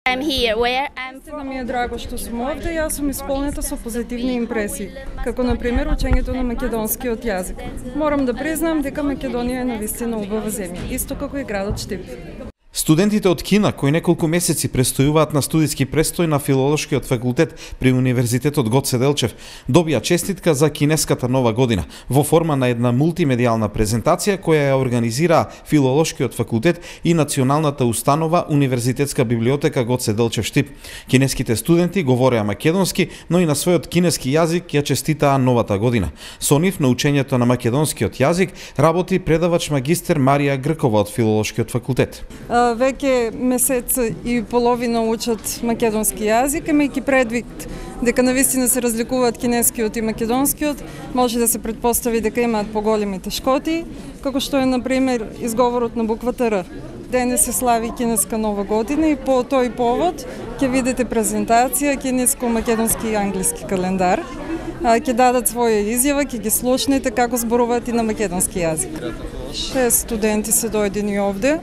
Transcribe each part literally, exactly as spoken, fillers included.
I'm here where I'm Сега ми е драго што сум овде, јас сум исполнета со позитивни импресии, како на пример учењето на македонскиот јазик. Морам да признам дека Македонија е навистина убава земја, исто како и градот Штип. Студентите од Кина, кои неколку месеци престојуваат на студиски престој на Филолошкиот факултет при Универзитетот Гоце Делчев, добија честитка за кинеската нова година во форма на една мултимедијална презентација која ја организираа Филолошкиот факултет и националната установа Универзитетска библиотека Гоце Делчев Штип. Кинеските студенти говореа македонски, но и на својот кинески јазик ја честитаа новата година. Со нив на учењето на македонскиот јазик работи предавач магистер Марија Гркова од Филолошкиот факултет. Веќе месец и половина учат македонски јазик, имајќи предвид дека навистина се разликуваат кинескиот и македонскиот, може да се претпостави дека имаат поголеми тешкоти, како што е на пример изговорот на буквата Р. Денес се слави кинеска нова година и по тој повод ќе видите презентација кинеско-македонски и англиски календар. Ќе дадат своја изјава, ќе ги слушнете како зборуваат и на македонски јазик. Шест студенти се дојдени овде.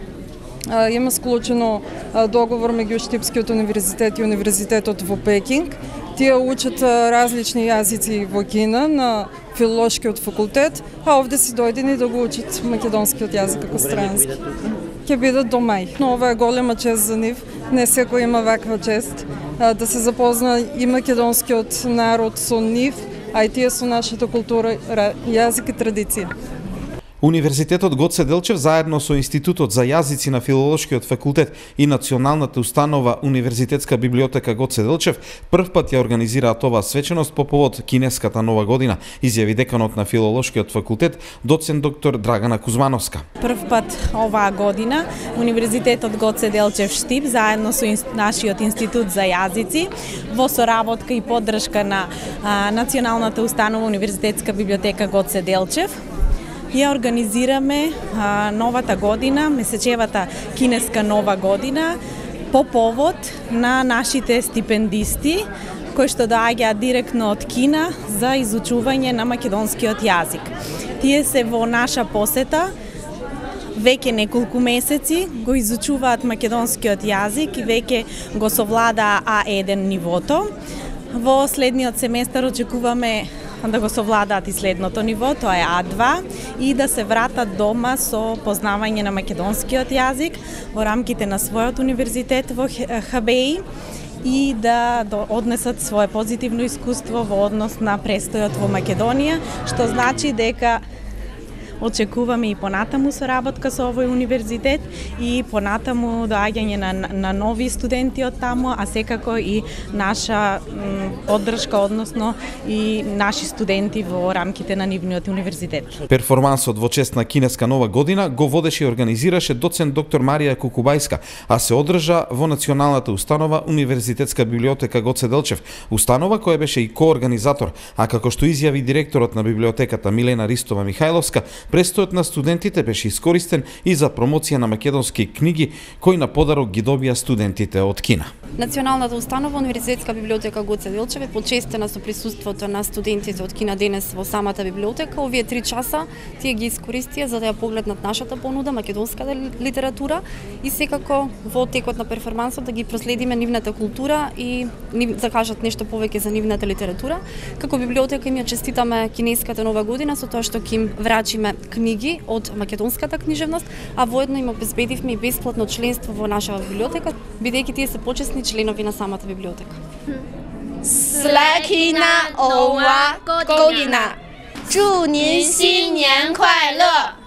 Има склучено договор меѓу Штипскиот универзитет и универзитетот во Пекинг. Тие учат различни јазици во Кина на Филолошкиот факултет, а овде се дојдени да го учат македонскиот јазик како странски. Ќе бидат до мај. Но ова е голема чест за нив. Не секој има ваква чест да се запозна и македонскиот народ со нив, а и тие со нашата култура, јазик и традиција. Универзитетот Гоце Делчев заедно со Институтот за јазици на Филолошкиот факултет и националната установа Универзитетска библиотека Гоце Делчев прв пат ја организираат оваа свеченост по повод кинеската нова година, изјави деканот на Филолошкиот факултет доцент доктор Драгана Кузмановска. Прв пат оваа година Универзитетот Гоце Делчев Штип заедно со нашиот Институт за јазици во соработка и поддршка на а, националната установа Универзитетска библиотека Гоце Делчев ја организираме а, новата година, месечевата кинеска нова година, по повод на нашите стипендисти кои што доаѓаат директно од Кина за изучување на македонскиот јазик. Тие се во наша посета веќе неколку месеци, го изучуваат македонскиот јазик и веќе го совладаа А еден нивото. Во следниот семестар очекуваме да го совладаат и следното ниво, тоа е А два, и да се вратат дома со познавање на македонскиот јазик во рамките на својот универзитет во ХБИ и да однесат свое позитивно искуство во однос на престојот во Македонија, што значи дека очекуваме и понатаму соработка со овој универзитет и понатаму доаѓање на, на нови студенти од таму, а секако и наша м, поддршка, односно и наши студенти во рамките на нивниот универзитет. Перформансот во чест на кинеска нова година го водеше и организираше доцент доктор Марија Кукубајска, а се одржа во националната установа Универзитетска библиотека Гоце Делчев, установа која беше и коорганизатор, а како што изјави директорот на библиотеката Милена Ристова Михајловска, престојот на студентите беше искористен и за промоција на македонски книги кои на подарок ги добија студентите од Кина. Националната установа Универзитетска библиотека Гоце Делчев е почестена со присуството на студентите од Кина денес во самата библиотека. Овие три часа тие ги искористија за да ја погледнат нашата понуда, македонската литература и секако во текот на перформансот да ги проследиме нивната култура и да кажат нешто повеќе за нивната литература. Како библиотека им ја честитаме кинеската нова година со тоа што ќе им врачиме книги од македонската книжевност, а воедно им обезбедивме и бесплатно членство во нашава библиотека, бидејќи тие се почесни членови на самата библиотека. Слакина ова година. 祝您新年快乐！